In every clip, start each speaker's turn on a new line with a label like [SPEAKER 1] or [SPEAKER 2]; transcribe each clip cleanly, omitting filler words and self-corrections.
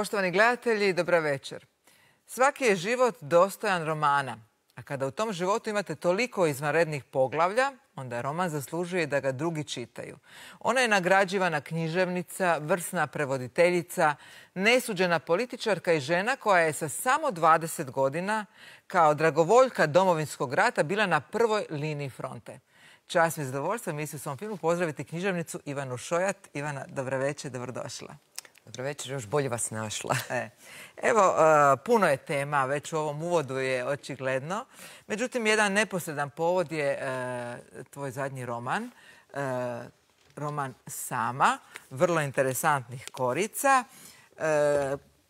[SPEAKER 1] Poštovani gledatelji, dobra večer. Svaki je život dostojan romana, a kada u tom životu imate toliko izvanrednih poglavlja, onda roman zaslužuje da ga drugi čitaju. Ona je nagrađivana književnica, vrsna prevoditeljica, nesuđena političarka i žena koja je sa samo 20 godina kao dragovoljka Domovinskog rata bila na prvoj liniji fronte. Čast mi je zadovoljstvo emisiju u svom filmu pozdraviti književnicu Ivanu Šojat. Ivana, dobra večer, dobrodošla.
[SPEAKER 2] Dobro večer, još bolje vas našla.
[SPEAKER 1] Evo, puno je tema, već u ovom uvodu je očigledno. Međutim, jedan neposredan povod je tvoj zadnji roman, roman Sama, vrlo interesantnih korica.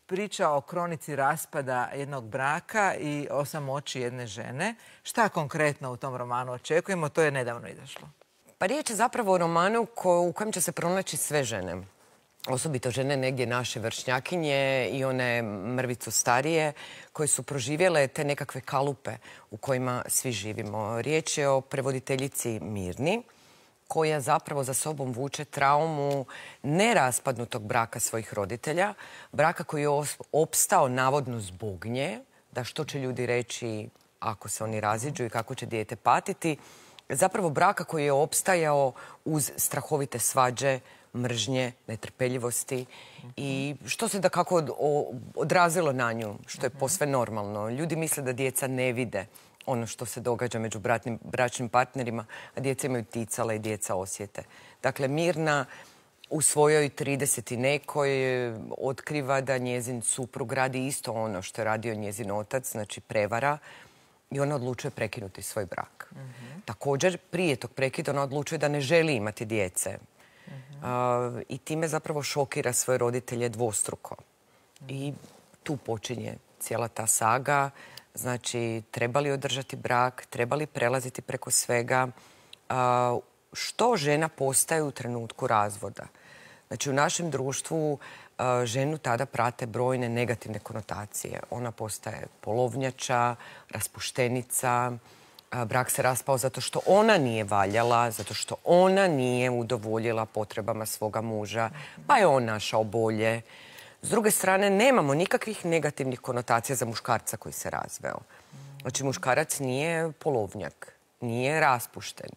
[SPEAKER 1] Priča o kronici raspada jednog braka i o samoći jedne žene. Šta konkretno u tom romanu očekujemo? To je nedavno izašlo.
[SPEAKER 2] Pa riječ je zapravo o romanu u kojem će se pronaći sve žene. Osobito žene negdje naše vršnjakinje i one mrvicu starije koje su proživjele te nekakve kalupe u kojima svi živimo. Riječ je o prevoditeljici Mirni koja zapravo za sobom vuče traumu neraspadnutog braka svojih roditelja, braka koji je opstao navodno zbog nje, da što će ljudi reći ako se oni raziđu i kako će dijete patiti. Zapravo braka koji je opstajao uz strahovite svađe, mržnje, netrpeljivosti i što se da kako odrazilo na nju, što je posve normalno. Ljudi misle da djeca ne vide ono što se događa među bračnim partnerima, a djeca imaju ticala i djeca osjete. Dakle, Mirna u svojoj 30 i nekoj otkriva da njezin suprug radi isto ono što je radio njezin otac, znači prevara, i ona odlučuje prekinuti svoj brak. Također, prije tog prekida ona odlučuje da ne želi imati djece. I time zapravo šokira svoje roditelje dvostruko. I tu počinje cijela ta saga. Znači, treba li održati brak, treba li prelaziti preko svega, što žena postaje u trenutku razvoda. Znači, u našem društvu ženu tada prate brojne negativne konotacije. Ona postaje polovnjača, raspuštenica, brak se raspao zato što ona nije valjala, zato što ona nije udovoljila potrebama svoga muža, pa je on našao bolje. S druge strane, nemamo nikakvih negativnih konotacija za muškarca koji se razveo. Znači, muškarac nije polovnjak, nije raspušten.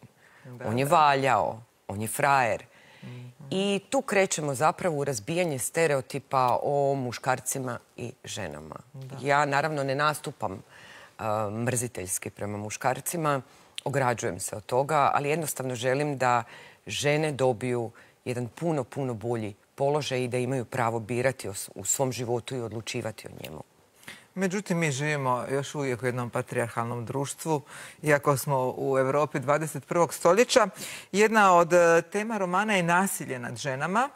[SPEAKER 2] On je valjao, on je frajer. I tu krećemo zapravo u razbijanje stereotipa o muškarcima i ženama. Ja naravno ne nastupam mrziteljski prema muškarcima, ograđujem se od toga, ali jednostavno želim da žene dobiju jedan puno bolji položaj i da imaju pravo birati u svom životu i odlučivati o njemu.
[SPEAKER 1] Međutim, mi živimo još uvijek u jednom patrijarhalnom društvu, iako smo u Europi 21. stoljeća. Jedna od tema romana je nasilje nad ženama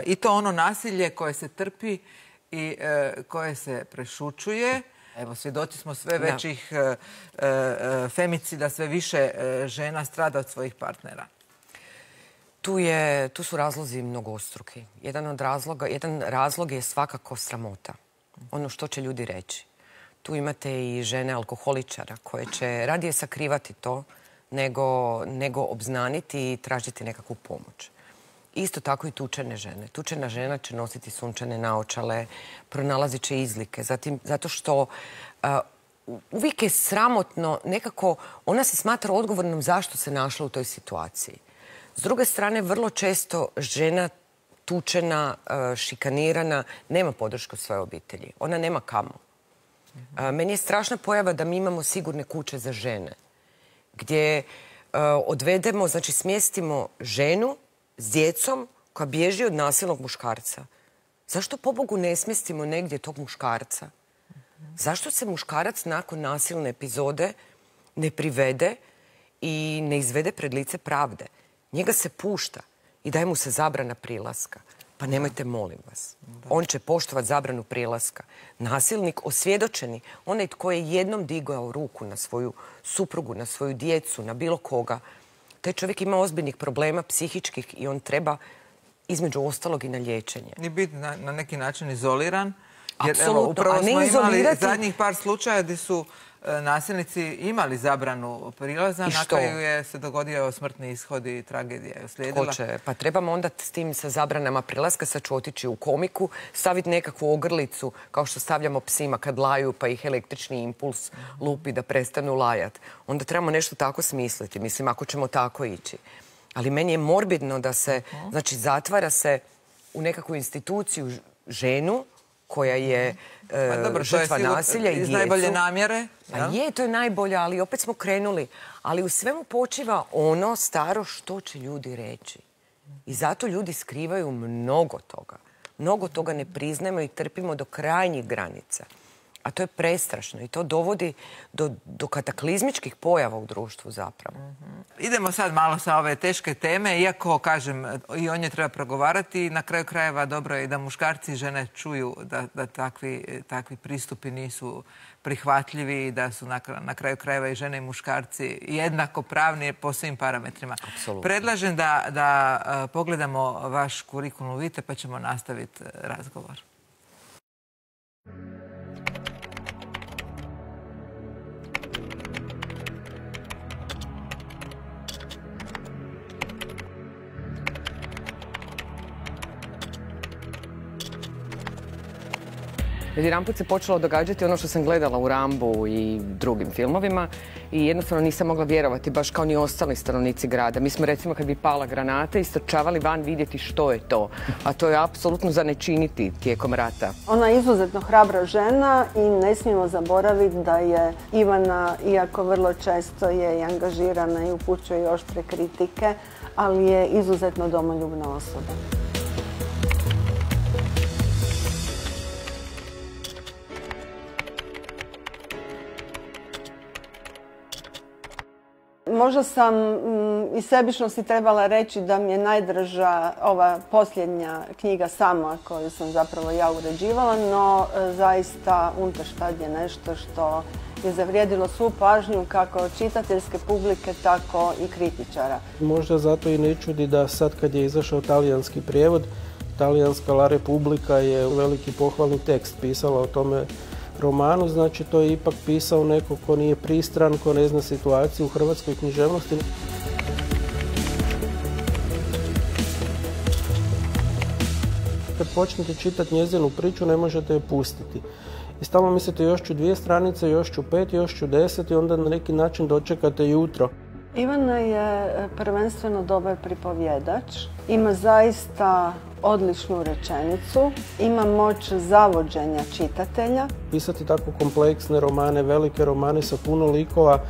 [SPEAKER 1] i to ono nasilje koje se trpi i koje se prešućuje. Evo, svjedoci smo sve većih femicida, sve više žena strada od svojih partnera.
[SPEAKER 2] Tu su razlozi mnogostruki. Jedan razlog je svakako sramota. Ono što će ljudi reći. Tu imate i žene alkoholičara koje će radije sakrivati to nego obznaniti i tražiti nekakvu pomoć. Isto tako i tučene žene. Tučena žena će nositi sunčane naočale, pronalazit će izlike. Zato što uvijek je sramotno, nekako ona se smatra odgovornom zašto se našla u toj situaciji. S druge strane, vrlo često žena tučena, šikanirana, nema podršku svoje obitelji. Ona nema kamo. Meni je strašna pojava da mi imamo sigurne kuće za žene, gdje odvedemo, znači smjestimo ženu s djecom koja bježi od nasilnog muškarca. Zašto pobogu ne smjestimo negdje tog muškarca? Zašto se muškarac nakon nasilne epizode ne privede i ne izvede pred lice pravde? Njega se pušta i daje mu se zabrana prilaska. Pa nemojte, molim vas. On će poštovati zabranu prilaska. Nasilnik, osvjedočeni, onaj tko je jednom digao ruku na svoju suprugu, na svoju djecu, na bilo koga, taj čovjek ima ozbiljnih problema psihičkih i on treba između ostalog i na liječenje.
[SPEAKER 1] Ni biti na neki način izoliran.
[SPEAKER 2] Apsolutno,
[SPEAKER 1] upravo smo imali zadnjih par slučaja gdje su nasilnici imali zabranu prilaza.
[SPEAKER 2] I što?
[SPEAKER 1] Na kraju je se dogodio smrtni ishod i tragedija je uslijedila.
[SPEAKER 2] Ko će? Pa trebamo onda s tim sa zabranama prilaska, sad ću otići u komiku, staviti nekakvu ogrlicu kao što stavljamo psima kad laju pa ih električni impuls lupi da prestanu lajat. Onda trebamo nešto tako smisliti, mislim, ako ćemo tako ići. Ali meni je morbidno da se, znači, zatvara se u nekakvu instituciju ženu koja je žrtva nasilja i djecu.
[SPEAKER 1] Iz najbolje namjere.
[SPEAKER 2] Pa je, to je najbolje, ali opet smo krenuli. Ali u svemu počiva ono staro što će ljudi reći. I zato ljudi skrivaju mnogo toga. Mnogo toga ne priznajemo i trpimo do krajnjih granica. A to je prestrašno i to dovodi do kataklizmičkih pojava u društvu zapravo.
[SPEAKER 1] Idemo sad malo sa ove teške teme, iako, kažem, i o njoj treba progovarati. Na kraju krajeva dobro je da muškarci i žene čuju da takvi pristupi nisu prihvatljivi i da su na kraju krajeva i žene i muškarci jednako pravni po svim parametrima.
[SPEAKER 2] Apsolutno.
[SPEAKER 1] Predlažem da pogledamo vaš kurikulum vitae pa ćemo nastaviti razgovor.
[SPEAKER 2] Jedanput se počelo događati ono što sam gledala u Rambu i drugim filmovima i jednostavno nisam mogla vjerovati, baš kao ni ostali stanovnici grada. Mi smo, recimo, kad bi pala granata, istrčavali van vidjeti što je to. A to je apsolutno za ne činiti tijekom rata.
[SPEAKER 3] Ona je izuzetno hrabra žena i ne smijemo zaboraviti da je Ivana, iako vrlo često je i angažirana i upućuje oštre kritike, ali je izuzetno domoljubna osoba. Možda sam iz sebičnosti trebala reći da mi je najdraža ova posljednja knjiga Sama, koju sam zapravo ja uređivala, no zaista Unterštad je nešto što je zavrijedilo svu pažnju kako čitateljske publike, tako i kritičara.
[SPEAKER 4] Možda zato i ne čudi da sad kad je izašao talijanski prijevod, talijanska La Repubblica je veliki pohvalni tekst pisala o tome romanu, znači to je ipak pisao neko ko nije pristran, ko ne zna situaciju u hrvatskoj književnosti. Kad počnete čitati njezinu priču, ne možete je pustiti. I stalno mislite još ću 2 stranice, još ću 5, još ću 10 i onda na neki način dočekate jutro.
[SPEAKER 3] Ivana je prvenstveno dobar pripovjedač, ima zaista odličnu rečenicu, ima moć zavođenja čitatelja.
[SPEAKER 4] Pisati tako kompleksne romane, velike romane sa puno likova,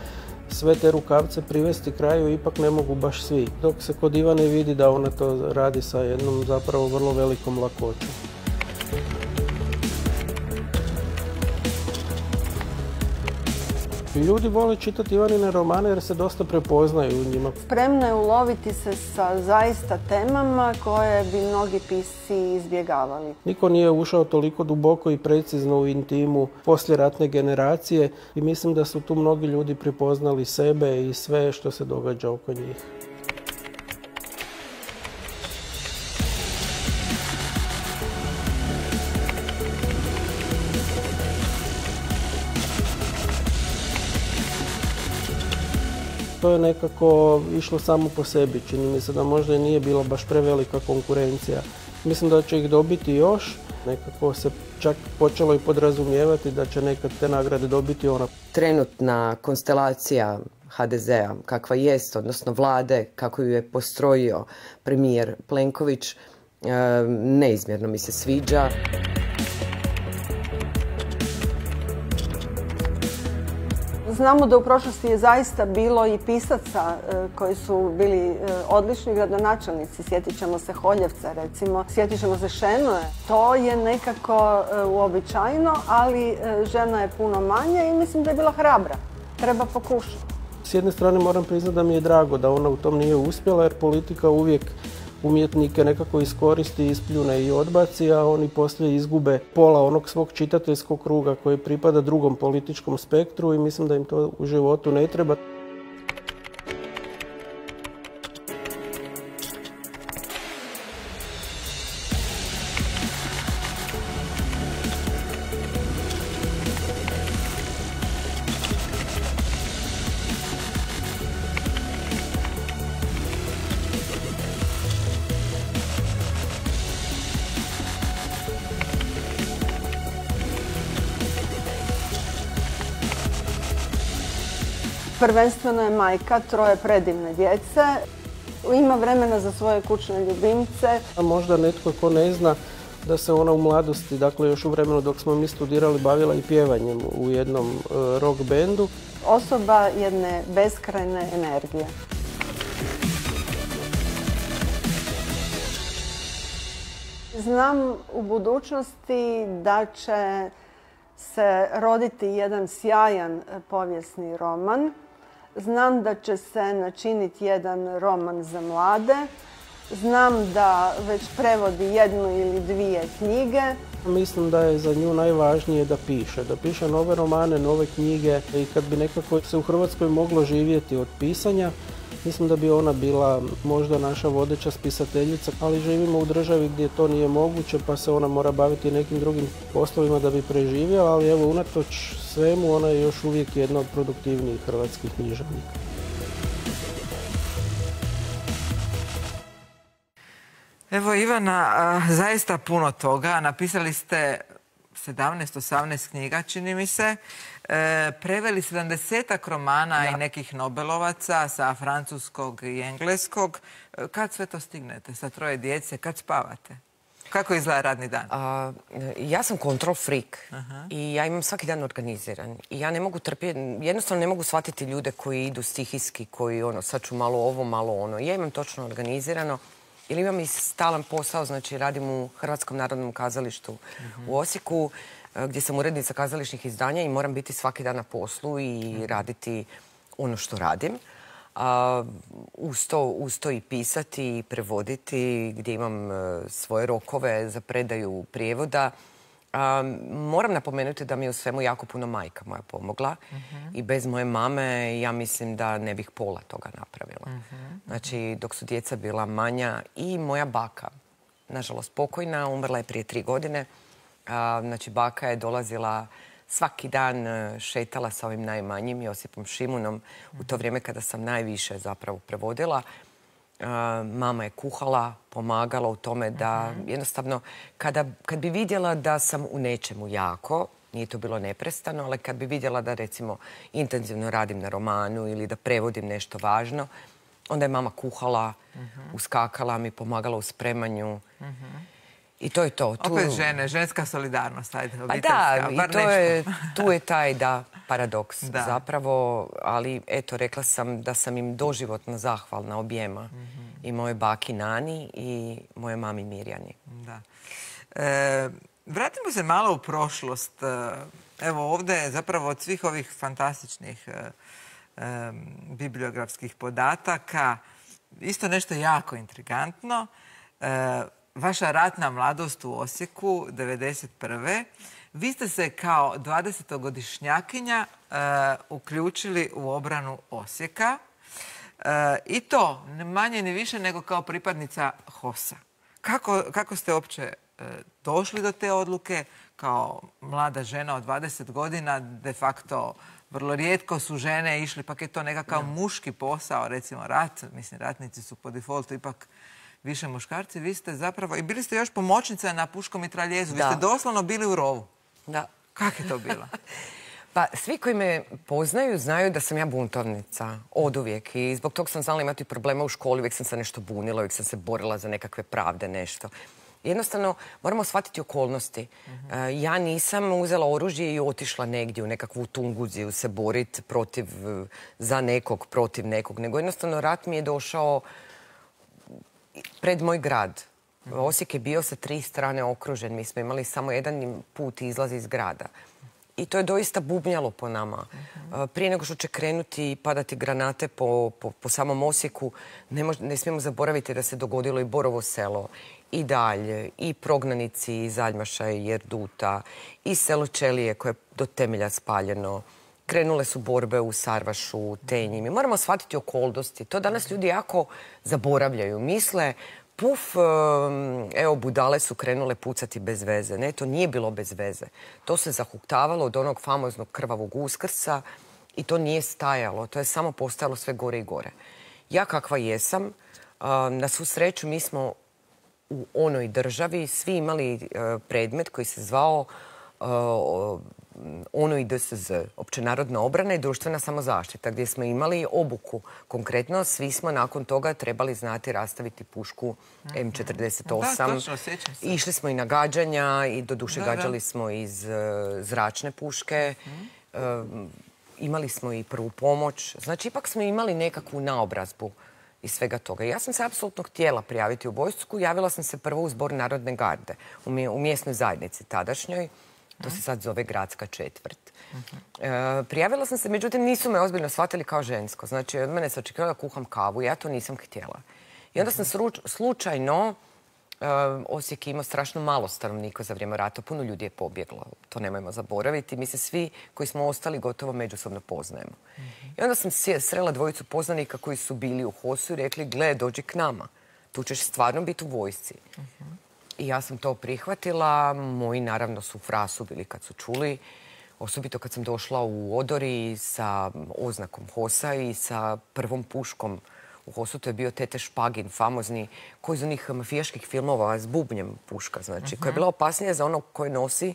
[SPEAKER 4] sve te rukavce privesti kraju ipak ne mogu baš svi. Dok se kod Ivane vidi da ona to radi sa jednom zapravo vrlo velikom lakoćom. Ljudi vole čitati Ivanine romane jer se dosta prepoznaju u njima.
[SPEAKER 3] Spremna je uloviti se sa zaista temama koje bi mnogi pisci izbjegavali.
[SPEAKER 4] Niko nije ušao toliko duboko i precizno u intimu poslijeratne generacije i mislim da su tu mnogi ljudi prepoznali sebe i sve što se događa oko njih. To je nekako išlo samo po sebi, čini mi se da možda i nije bila baš prevelika konkurencija. Mislim da će ih dobiti još, nekako se čak počelo i podrazumijevati da će nekad te nagrade dobiti ona.
[SPEAKER 2] Trenutna konstelacija HDZ-a, kakva jest, odnosno vlade, kako ju je postrojio premijer Plenković, neizmjerno mi se sviđa.
[SPEAKER 3] Znamo da u prošlosti je zaista bilo i pisaca koji su bili odlični gradonačelnici. Sjetit ćemo se Holjevca, recimo. Sjetit ćemo se Šenoe. To je nekako uobičajeno, ali žena je puno manje i mislim da je bila hrabra. Treba pokušati.
[SPEAKER 4] S jedne strane moram priznati da mi je drago da ona u tom nije uspjela, jer politika uvijek umjetnike nekako iskoristi, ispljune i odbaci, a oni poslije izgube pola onog svog čitateljskog kruga koji pripada drugom političkom spektru i mislim da im to u životu ne treba.
[SPEAKER 3] Prvenstveno je majka 3 predivne djece. Ima vremena za svoje kućne ljubimce.
[SPEAKER 4] A možda netko ko ne zna da se ona u mladosti, dakle još u vremenu dok smo mi studirali, bavila i pjevanjem u jednom rock bendu.
[SPEAKER 3] Osoba jedne beskrajne energije. Znam u budućnosti da će se roditi jedan sjajan povijesni roman. Znam da će se načiniti jedan roman za mlade. Znam da već prevodi 1 ili 2 knjige.
[SPEAKER 4] Mislim da je za nju najvažnije da piše nove romane, nove knjige i kad bi nekako se u Hrvatskoj moglo živjeti od pisanja, mislim da bi ona bila možda naša vodeća spisateljica, ali živimo u državi gdje to nije moguće pa se ona mora baviti nekim drugim poslovima da bi preživjela, ali evo unatoč svemu ona je još uvijek jedna od produktivnijih hrvatskih književnika.
[SPEAKER 1] Evo Ivana, zaista puno toga. Napisali ste 17-18 knjiga, čini mi se. Preveli 70-ak romana i nekih Nobelovaca sa francuskog i engleskog. Kad sve to stignete sa 3 djece? Kad spavate? Kako izgleda radni dan?
[SPEAKER 2] Ja sam control freak i ja imam svaki dan organiziran. I ja ne mogu jednostavno ne mogu shvatiti ljude koji idu stihijski, koji sad ću malo ovo, malo ono. Ja imam točno organizirano. Ili imam i stalan posao, znači radim u Hrvatskom narodnom kazalištu u Osijeku, gdje sam urednica kazališnih izdanja i moram biti svaki dan na poslu i raditi ono što radim. Uz to i pisati i prevoditi, gdje imam svoje rokove za predaju prijevoda. Moram napomenuti da mi je u svemu jako puno majka moja pomogla i bez moje mame ja mislim da ne bih pola toga napravila. Znači, dok su djeca bila manja i moja baka, nažalost pokojna, umrla je prije 3 godine. Znači, baka je dolazila svaki dan, šetala sa ovim najmanjim, Josipom Šimunom, u to vrijeme kada sam najviše zapravo prevodila. Mama je kuhala, pomagala u tome da jednostavno, kad bi vidjela da sam u nečemu jako, nije to bilo neprestano, ali kad bi vidjela da recimo intenzivno radim na romanu ili da prevodim nešto važno, onda je mama kuhala, uskakala mi, pomagala u spremanju. I to je to.
[SPEAKER 1] Opet žene, ženska solidarnost, ajde,
[SPEAKER 2] obiteljska. Pa da, i tu je taj, paradoks zapravo, ali eto, rekla sam da sam im doživotno zahvalna objema. I moje baki Nani i moje mami Mirjani.
[SPEAKER 1] Da. Vratimo se malo u prošlost. Evo ovdje zapravo od svih ovih fantastičnih bibliografskih podataka isto nešto jako intrigantno. Vaša ratna mladost u Osijeku, 1991. Vi ste se kao 20-godišnjakinja uključili u obranu Osijeka. I to, manje ni više nego kao pripadnica HOS-a. Kako ste uopće došli do te odluke? Kao mlada žena od 20 godina, de facto vrlo rijetko su žene išli, pak je to nekakav muški posao, recimo rat. Mislim, ratnici su po defaultu ipak više muškarci. Vi ste zapravo, i bili ste još pomoćnica na puškom mitraljezu. Vi ste doslovno bili u rovu.
[SPEAKER 2] Da.
[SPEAKER 1] Kako je to bilo?
[SPEAKER 2] Pa svi koji me poznaju znaju da sam ja buntovnica od uvijek i zbog toga sam znala imati problema u školi, uvijek sam se nešto bunila, uvijek sam se borila za nekakve pravde, nešto. Jednostavno, moramo shvatiti okolnosti. Ja nisam uzela oružje i otišla negdje u nekakvu Tunguziju se boriti za nekog, protiv nekog, nego jednostavno rat mi je došao pred moj grad. Osijek je bio sa 3 strane okružen. Mi smo imali samo jedan put izlaz iz grada. I to je doista bubnjalo po nama. Prije nego što će krenuti i padati granate po samom Osijeku, ne smijemo zaboraviti da se dogodilo i Borovo selo, i dalje, i prognanici iz Aljmaša i Erduta, i selo Čelije koje je do temelja spaljeno. Krenule su borbe u Sarvašu, Tenji. Mi moramo shvatiti okolnosti. To danas ljudi jako zaboravljaju. Misle, evo, budale su krenule pucati bez veze. Ne, to nije bilo bez veze. To se zahuktavalo od onog famoznog krvavog Uskrsa i to nije stajalo. To je samo postajalo sve gore i gore. Ja kakva jesam, na svu sreću mi smo u onoj državi svi imali predmet koji se zvao ONO i DSZ, općenarodna obrana i društvena samozaštita, gdje smo imali obuku. Konkretno, svi smo nakon toga trebali znati rastaviti pušku M48.
[SPEAKER 1] Da, točno, sjećam se.
[SPEAKER 2] Išli smo i na gađanja i doduše gađali smo iz zračne puške. Imali smo i prvu pomoć. Znači, ipak smo imali nekakvu naobrazbu i svega toga. Ja sam se apsolutno htjela prijaviti u vojsku. Javila sam se prvo u Zbor Narodne garde u mjesnoj zajednici tadašnjoj. To se sad zove Gradska četvrt. Prijavila sam se, međutim nisu me ozbiljno shvatili kao žensko. Znači, od mene se očekivalo da kuham kavu. Ja to nisam htjela. I onda sam slučajno, Osijek je imao strašno malo stanovnika za vrijeme rata. Puno ljudi je pobjeglo. To nemojmo zaboraviti. Mi se svi koji smo ostali gotovo međusobno poznajemo. I onda sam srela dvojicu poznanika koji su bili u HOS-u i rekli, gle, dođi k nama. Tu ćeš stvarno biti u vojsci. I ja sam to prihvatila. Moji, naravno, su u frasu bili kad su čuli. Osobito kad sam došla u odori sa oznakom HOS-a i sa prvom puškom u HOS-u. To je bio Tete Špagin, famozni, koji iz onih mafijaških filmova s bubnjem puška, znači, koja je bila opasnija za onog koji nosi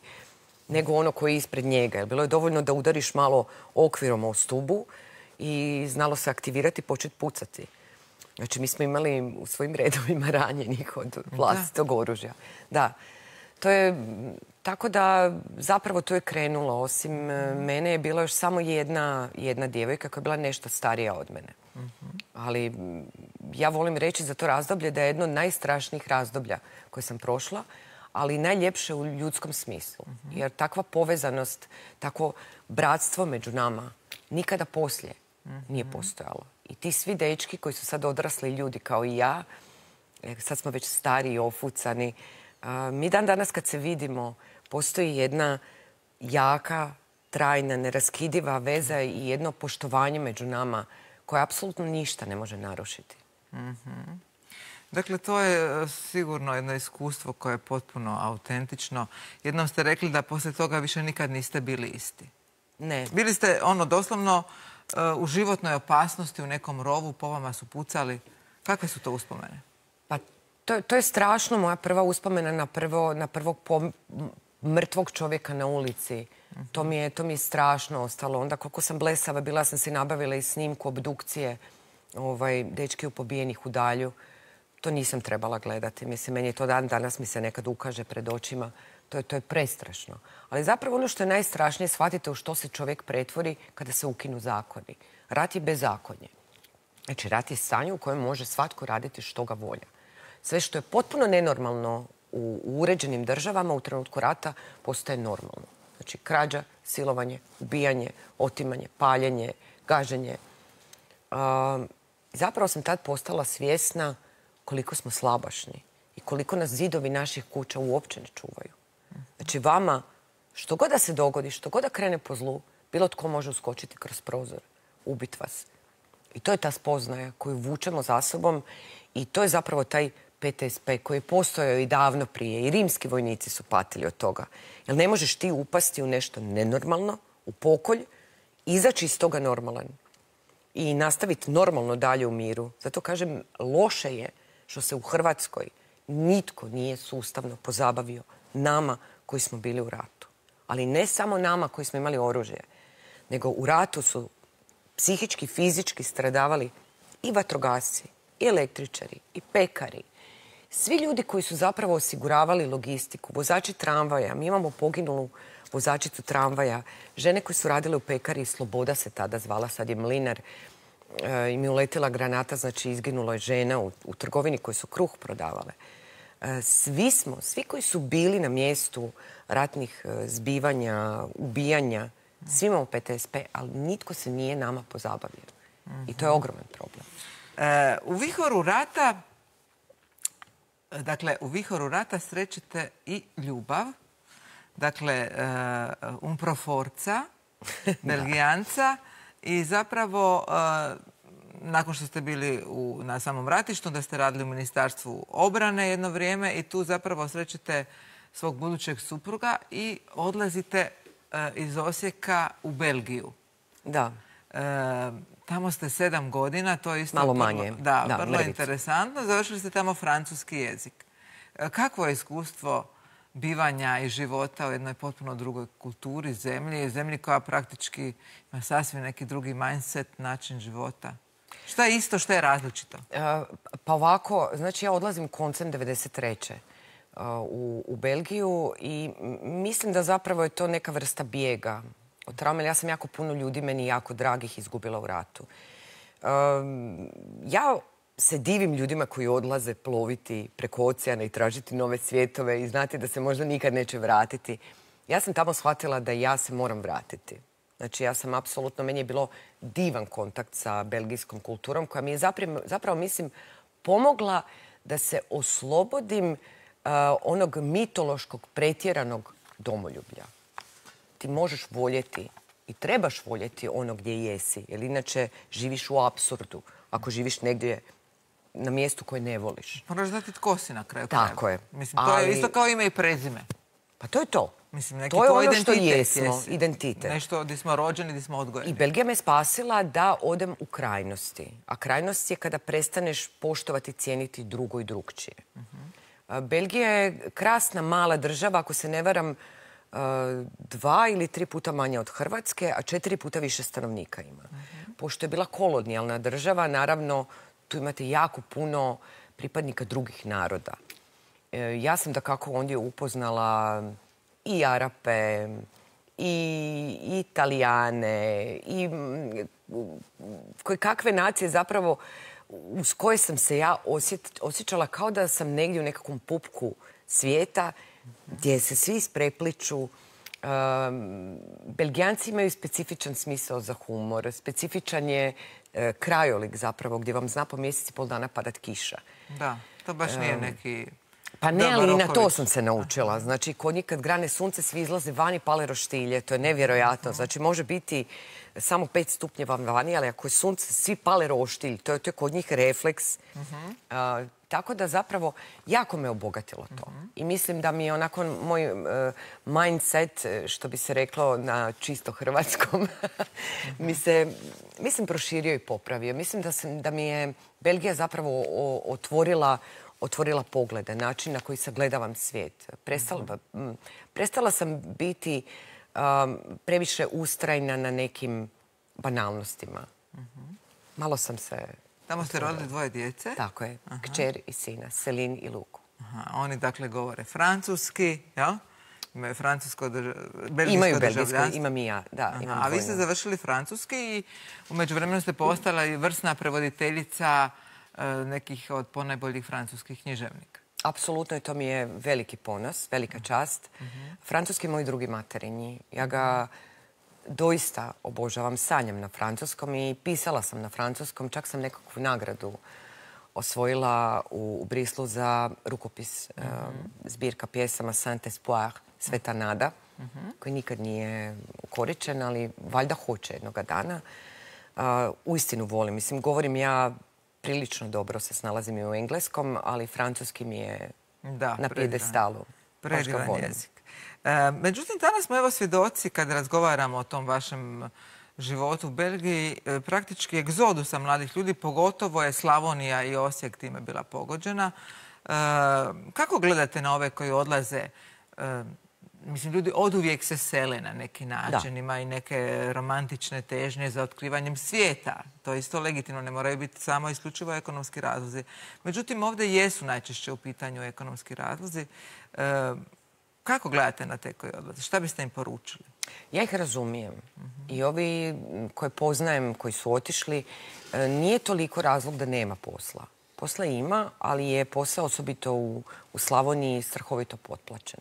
[SPEAKER 2] nego ono koji je ispred njega. Jer bilo je dovoljno da udariš malo okvirom o stubu i znalo se aktivirati i početi pucati. Znači, mi smo imali u svojim redovima ranjenih od vlastitog oružja. Da. To je, tako da zapravo to je krenulo. Osim mene je bila još samo jedna djevojka koja je bila nešto starija od mene. Ali ja volim reći za to razdoblje da je jedno od najstrašnijih razdoblja koje sam prošla, ali najljepše u ljudskom smislu. Jer takva povezanost, takvo bratstvo među nama nikada poslije nije postojalo. I ti svi dečki koji su sad odrasli ljudi kao i ja, sad smo već stari i ofucani, mi dan danas kad se vidimo, postoji jedna jaka, trajna, neraskidiva veza i jedno poštovanje među nama koje apsolutno ništa ne može narušiti.
[SPEAKER 1] Dakle, to je sigurno jedno iskustvo koje je potpuno autentično. Jednom ste rekli da poslije toga više nikad niste bili isti.
[SPEAKER 2] Ne.
[SPEAKER 1] Bili ste doslovno u životnoj opasnosti u nekom rovu, po vama su pucali. Kakve su to uspomene?
[SPEAKER 2] Pa, to je strašno. Moja prva uspomena na prvog mrtvog čovjeka na ulici. To mi je strašno ostalo. Onda koliko sam blesava bila, sam si nabavila i snimku obdukcije dečki pobijenih u Dalju. To nisam trebala gledati. Mislim, meni je to danas mi se nekad ukaže pred očima. To je prestrašno. Ali zapravo ono što je najstrašnije, shvatite u što se čovjek pretvori kada se ukinu zakoni. Rat je bezakonje. Znači, rat je stanje u kojem može svatko raditi što ga volja. Sve što je potpuno nenormalno u uređenim državama u trenutku rata postaje normalno. Znači, krađa, silovanje, ubijanje, otimanje, paljenje, gaženje. Zapravo sam tad postala svjesna koliko smo slabašni i koliko nas zidovi naših kuća uopće ne čuvaju. Znači, vama, što god da se dogodi, što god da krene po zlu, bilo tko može uskočiti kroz prozor, ubiti vas. I to je ta spoznaja koju vučemo za sobom i to je zapravo taj PTSP koji je postojao i davno prije. I rimski vojnici su patili od toga. Jer ne možeš ti upasti u nešto nenormalno, u pokolj, izaći iz toga normalan i nastaviti normalno dalje u miru. Zato kažem, loše je što se u Hrvatskoj nitko nije sustavno pozabavio nama koji smo bili u ratu. Ali ne samo nama koji smo imali oružje, nego u ratu su psihički, fizički stradavali i vatrogasci, i električari, i pekari. Svi ljudi koji su zapravo osiguravali logistiku, vozači tramvaja, mi imamo poginulu vozačicu tramvaja, žene koje su radile u pekari, Sloboda se tada zvala, sad je Mlinar, im je uletila granata, znači izginula je žena u trgovini koji su kruh prodavale. Svi koji su bili na mjestu ratnih zbivanja, ubijanja, svi imamo PTSP, ali nitko se nije nama pozabavio. I to je ogroman problem.
[SPEAKER 1] U vihoru rata srećete i ljubav. Dakle, Umproforca, Belgijanca. I zapravo, nakon što ste bili na samom ratištu, da ste radili u Ministarstvu obrane jedno vrijeme i tu zapravo srećete svog budućeg supruga i odlazite iz Osijeka u Belgiju.
[SPEAKER 2] Da.
[SPEAKER 1] Tamo ste 7 godina, to je isto
[SPEAKER 2] malo manje.
[SPEAKER 1] Vrlo interesantno. Završili ste tamo francuski jezik. Kakvo je iskustvo bivanja i života u jednoj potpuno drugoj kulturi, zemlji koja praktički ima sasvim neki drugi mindset, način života. Šta je isto, šta je različito?
[SPEAKER 2] Pa ovako, znači ja odlazim koncem 93. U Belgiju i mislim da zapravo je to neka vrsta bijega od traume. Ja sam jako puno ljudi, meni jako dragih, izgubila u ratu. Ja se divim ljudima koji odlaze ploviti preko oceana i tražiti nove svjetove i znati da se možda nikad neće vratiti. Ja sam tamo shvatila da ja se moram vratiti. Znači ja sam apsolutno, meni je bilo divan kontakt sa belgijskom kulturom koja mi je zapravo mislim, pomogla da se oslobodim onog mitološkog pretjeranog domoljublja. Ti možeš voljeti i trebaš voljeti ono gdje jesi, jer inače živiš u apsurdu ako živiš negdje na mjestu koje ne voliš.
[SPEAKER 1] Moraš znati tko si na kraju.
[SPEAKER 2] Tako je.
[SPEAKER 1] Mislim, to je isto kao ime i prezime.
[SPEAKER 2] Pa to je to.
[SPEAKER 1] Mislim, neki
[SPEAKER 2] to je ono što
[SPEAKER 1] identitet
[SPEAKER 2] jesmo, identitet.
[SPEAKER 1] Nešto gdje smo rođeni, gdje smo odgojeni.
[SPEAKER 2] I Belgija me spasila da odem u krajnosti. A krajnost je kada prestaneš poštovati, cijeniti drugo i drugčije. Belgija je krasna mala država, ako se ne varam, 2 ili 3 puta manja od Hrvatske, a 4 puta više stanovnika ima. Pošto je bila kolonijalna država, naravno, tu imate jako puno pripadnika drugih naroda. Ja sam dakako ondje upoznala i Arape, i Italijane, i kakve nacije zapravo uz koje sam se ja osjećala kao da sam negdje u nekakvom pupku svijeta gdje se svi isprepliču. Belgijanci imaju specifičan smisao za humor. Specifičan je krajolik zapravo gdje vam zna po mjeseci pol dana padat kiša.
[SPEAKER 1] Da, to baš nije neki...
[SPEAKER 2] Pa ne, ali i na to sam se naučila. Znači, kod njih kad grane sunce, svi izlaze vani, pale roštilje. To je nevjerojatno. Znači, može biti samo 5 stupnjeva vani, ali ako je sunce, svi pale roštilj. To je kod njih refleks. Tako da zapravo jako me obogatilo to. I mislim da mi je onako moj mindset, što bi se reklo na čisto hrvatskom, mislim proširio i popravio. Mislim da mi je Belgija zapravo otvorila poglede, način na koji sagledavam svijet. Prestala sam biti previše ustrajna na nekim banalnostima. Malo sam se...
[SPEAKER 1] Tamo ste rodili 2 djece?
[SPEAKER 2] Tako je. Kćer i sina, Selin i Luku.
[SPEAKER 1] Oni dakle govore francuski, jel? Imaju francusko belgijsko
[SPEAKER 2] Imaju belgijsko,
[SPEAKER 1] državljanstvo.
[SPEAKER 2] imam i ja, da.
[SPEAKER 1] A vi ste završili francuski i u međuvremenu ste postala i vrsna prevoditeljica nekih od ponajboljih francuskih književnika.
[SPEAKER 2] Apsolutno, i to mi je veliki ponos, velika čast. Francuski je moj drugi materinji. Ja ga doista obožavam, sanjam na francuskom i pisala sam na francuskom. Čak sam nekakvu nagradu osvojila u Brislu za rukopis zbirka pjesama Saint-Espoir, Sveta nada, koji nikad nije ukoričen, ali valjda hoće jednoga dana. Uistinu volim. Mislim, govorim ja prilično dobro se snalazim i u engleskom, ali francuski mi je na pijedestalu.
[SPEAKER 1] Predivan jezik. Međutim, danas smo evo svjedoci kad razgovaramo o tom vašem životu u Belgiji, praktički egzodusa mladih ljudi, pogotovo je Slavonija i Osijek time bila pogođena. Kako gledate na ove koji odlaze? Mislim, ljudi oduvijek se sele na neki način, ima i neke romantične težnje za otkrivanjem svijeta. To je isto legitimno, ne moraju biti samo isključivo ekonomski razlozi. Međutim, ovdje jesu najčešće u pitanju ekonomski razlozi. Kako gledate na te koji odlaze? Šta biste im poručili?
[SPEAKER 2] Ja ih razumijem. I ovi koje poznajem, koji su otišli, nije toliko razlog da nema posla. Posla ima, ali je posao osobito u Slavoniji strahovito potplaćen.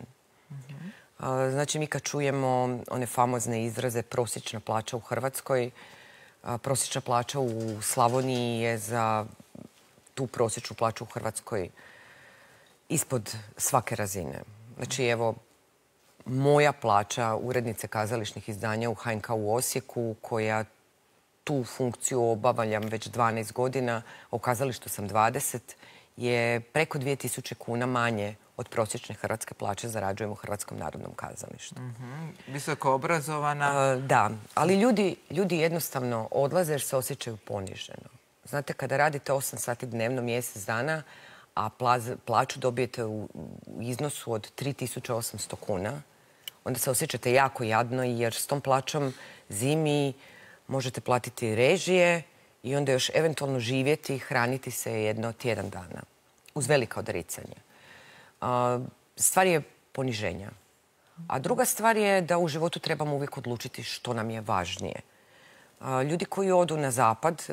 [SPEAKER 2] Znači, mi kad čujemo one famozne izraze prosječna plaća u Hrvatskoj, prosječna plaća u Slavoniji je za tu prosječnu plaću u Hrvatskoj ispod svake razine. Znači, evo, moja plaća urednice kazališnih izdanja u HNK u Osijeku, koja tu funkciju obavljam već 12 godina, a u kazalištu sam 20, je preko 2000 kuna manje od prosječne hrvatske plaće zarađujem u Hrvatskom narodnom kazalištu.
[SPEAKER 1] Visoko obrazovana.
[SPEAKER 2] Da, ali ljudi jednostavno odlaze jer se osjećaju poniženo. Znate, kada radite 8 sati dnevno, mjesec dana, a plaću dobijete u iznosu od 3.800 kuna, onda se osjećate jako jadno jer s tom plaćom zimi možete platiti režije i onda još eventualno živjeti i hraniti se jedno tjedan dana. Uz velika odricanja. Stvar je poniženja. A druga stvar je da u životu trebamo uvijek odlučiti što nam je važnije. Ljudi koji odu na zapad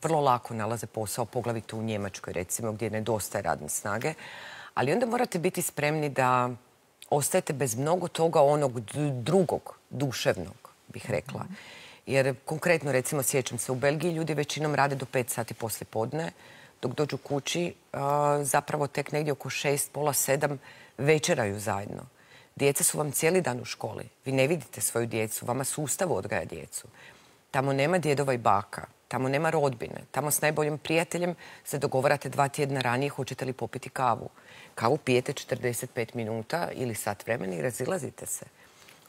[SPEAKER 2] vrlo lako nalaze posao, poglavito u Njemačkoj, recimo, gdje nedostaje radne snage. Ali onda morate biti spremni da ostajete bez mnogo toga onog drugog, duševnog, bih rekla. Jer konkretno, recimo, sjećam se, u Belgiji ljudi većinom rade do 5 sati poslije podne, dok dođu kući, zapravo tek negdje oko 6, pola 7 večeraju zajedno. Djeca su vam cijeli dan u školi. Vi ne vidite svoju djecu, vama sustav odgaja djecu. Tamo nema djedova i baka, tamo nema rodbine. Tamo s najboljim prijateljem se dogovarate 2 tjedna ranije hoćete li popiti kavu. Kavu pijete 45 minuta ili sat vremena i razilazite se.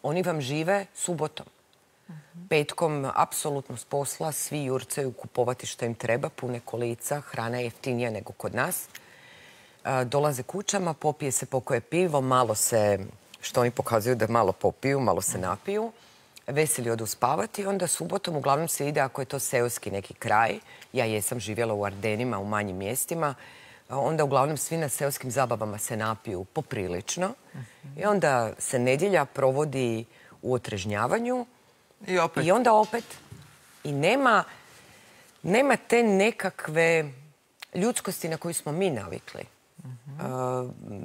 [SPEAKER 2] Oni vam žive subotom. Petkom, apsolutno s posla, svi jurcaju kupovati što im treba, pune kolica, hrana je jeftinija nego kod nas. Dolaze kućama, popije se pokoje pivo, malo se, što oni pokazuju da malo popiju, malo se napiju. Veseli odu spavati, onda subotom uglavnom se ide, ako je to seoski neki kraj, ja jesam živjela u Ardenima, u manjim mjestima, onda uglavnom svi na seoskim zabavama se napiju poprilično i onda se nedjelja provodi u otrežnjavanju i onda opet. I nema te nekakve ljudskosti na koju smo mi navikli.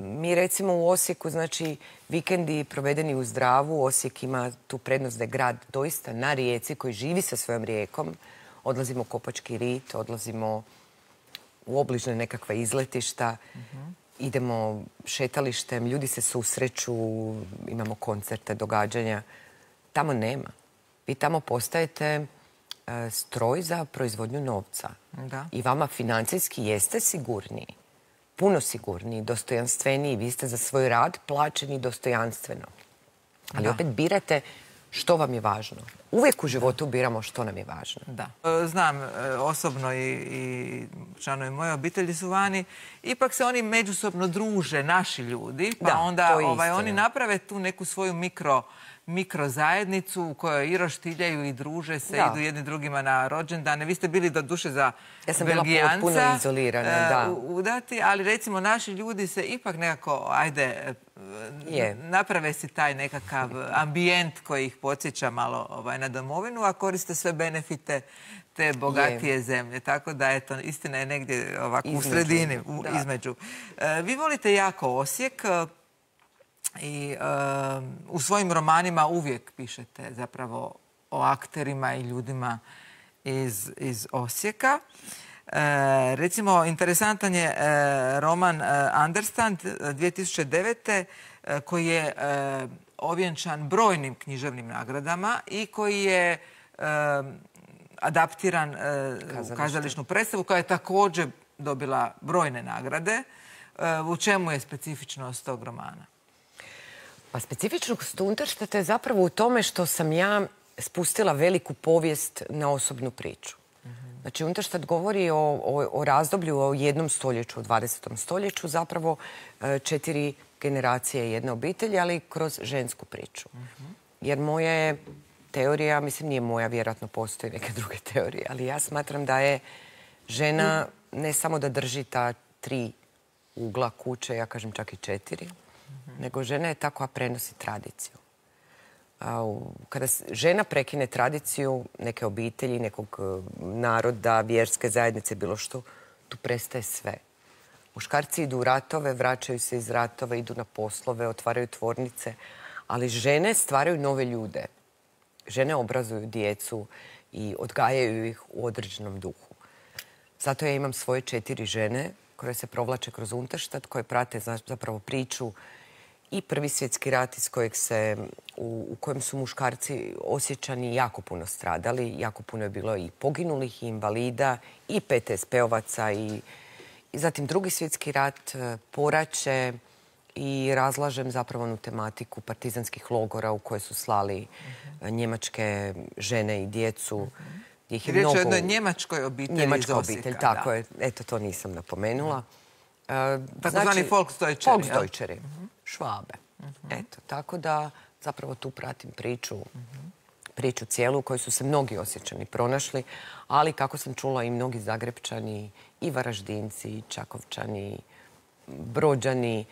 [SPEAKER 2] Mi recimo u Osijeku, znači vikendi provedeni u zdravu, Osijek ima tu prednost da je grad doista na rijeci koji živi sa svojom rijekom. Odlazimo u Kopački rit, odlazimo u obližne nekakva izletišta, idemo šetalištem, ljudi se susreću, imamo koncerte, događanja. Tamo nema. Vi tamo postajete stroj za proizvodnju novca. I vama financijski jeste sigurniji. Puno sigurniji, dostojanstveniji. Vi ste za svoj rad plaćeni dostojanstveno. Ali opet birate što vam je važno. Uvijek u životu biramo što nam je važno.
[SPEAKER 1] Da. Znam osobno i članovi moje obitelji su vani. Ipak se oni međusobno druže, naši ljudi. Pa onda oni naprave tu neku svoju mikrozajednicu u kojoj i roštiljaju i druže se, idu jedni drugima na rođendane. Vi ste bili do duše za Belgijanca.
[SPEAKER 2] Ja sam bila potpuno izolirana, da.
[SPEAKER 1] Udati, ali recimo naši ljudi se ipak nekako, naprave si taj nekakav ambijent koji ih podsjeća malo na domovinu, a koriste sve benefite te bogatije zemlje. Tako da, eto, istina je negdje ovako u sredini, između. Vi volite jako Osijek. I u svojim romanima uvijek pišete zapravo o akterima i ljudima iz Osijeka. Recimo, interesantan je roman Understand 2009. Koji je ovjenčan brojnim književnim nagradama i koji je adaptiran u kazališnu predstavu koja je također dobila brojne nagrade. U čemu je specifičnost tog romana?
[SPEAKER 2] Pa specifičnost Unterstadta je zapravo u tome što sam ja spustila veliku povijest na osobnu priču. Znači, Unterstadt govori o razdoblju, o jednom stoljeću, o 20. stoljeću, zapravo 4 generacije jedne obitelji, ali kroz žensku priču. Jer moja je teorija, mislim nije moja, vjerojatno postoji neke druge teorije, ali ja smatram da je žena ne samo da drži ta 3 ugla kuće, ja kažem čak i 4, nego žena je ta koja prenosi tradiciju. Kada žena prekine tradiciju neke obitelji, nekog naroda, vjerske zajednice, bilo što, tu prestaje sve. Muškarci idu u ratove, vraćaju se iz ratova, idu na poslove, otvaraju tvornice, ali žene stvaraju nove ljude. Žene obrazuju djecu i odgajaju ih u određenom duhu. Zato ja imam svoje 4 žene koje se provlače kroz Unterstadt, koje prate zapravo priču i Prvi svjetski rat u kojem su muškarci Osječani jako puno stradali. Jako puno je bilo i poginulih, i invalida, i PTSP-ovaca. I zatim Drugi svjetski rat, poraće i razlažem zapravo onu tematiku partizanskih logora u koje su slali njemačke žene i djecu.
[SPEAKER 1] Riječ je o jednoj njemačkoj obitelji iz Osijeka.
[SPEAKER 2] Njemačka obitelj, tako je. Eto, to nisam napomenula.
[SPEAKER 1] Takozvani Volksdeutscheri.
[SPEAKER 2] Volksdeutscheri, Švabe. Eto, tako da zapravo tu pratim priču cijelu u kojoj su se mnogi Osječani pronašli, ali kako sam čula i mnogi Zagrepčani, i Varaždinci, i Čakovčani, Brođani.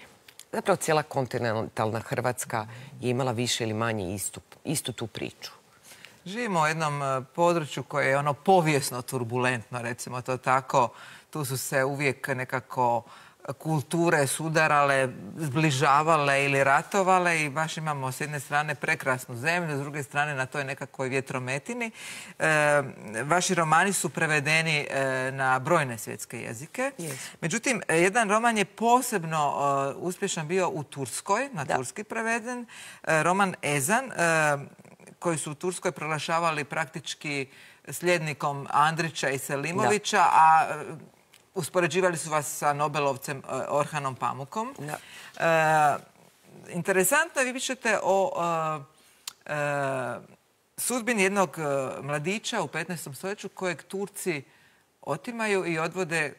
[SPEAKER 2] Zapravo cijela kontinentalna Hrvatska je imala više ili manje istu tu priču.
[SPEAKER 1] Živimo u jednom području koje je ono povijesno turbulentno, recimo to tako. Tu su se uvijek nekako kulture sudarale, zbližavale ili ratovale i baš imamo s jedne strane prekrasnu zemlju, s druge strane na toj nekakvoj vjetrometini. Vaši romani su prevedeni na brojne svjetske jezike. Međutim, jedan roman je posebno uspješan bio u Turskoj, na turski preveden. Roman Ezan, koji su u Turskoj proglašavali praktički sljednikom Andrića i Selimovića, a uspoređivali su vas sa Nobelovcem Orhanom Pamukom. Interesantno je, vi pišete o sudbini jednog mladića u 15. stoljeću kojeg Turci otimaju i odvode,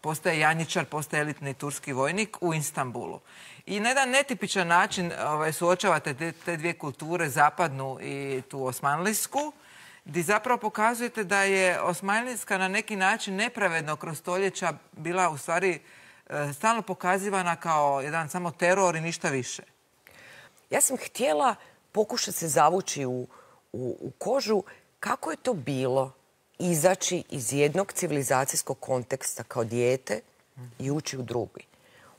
[SPEAKER 1] postaje janjičar, postaje elitni turski vojnik u Istanbulu. I na jedan netipičan način suočavate te dvije kulture, zapadnu i tu osmanlijsku, gdje zapravo pokazujete da je osmanlijska na neki način nepravedno kroz stoljeća bila u stvari stalno pokazivana kao jedan samo teror i ništa više.
[SPEAKER 2] Ja sam htjela pokušati se zavući u kožu kako je to bilo izaći iz jednog civilizacijskog konteksta kao dijete i ući u drugi.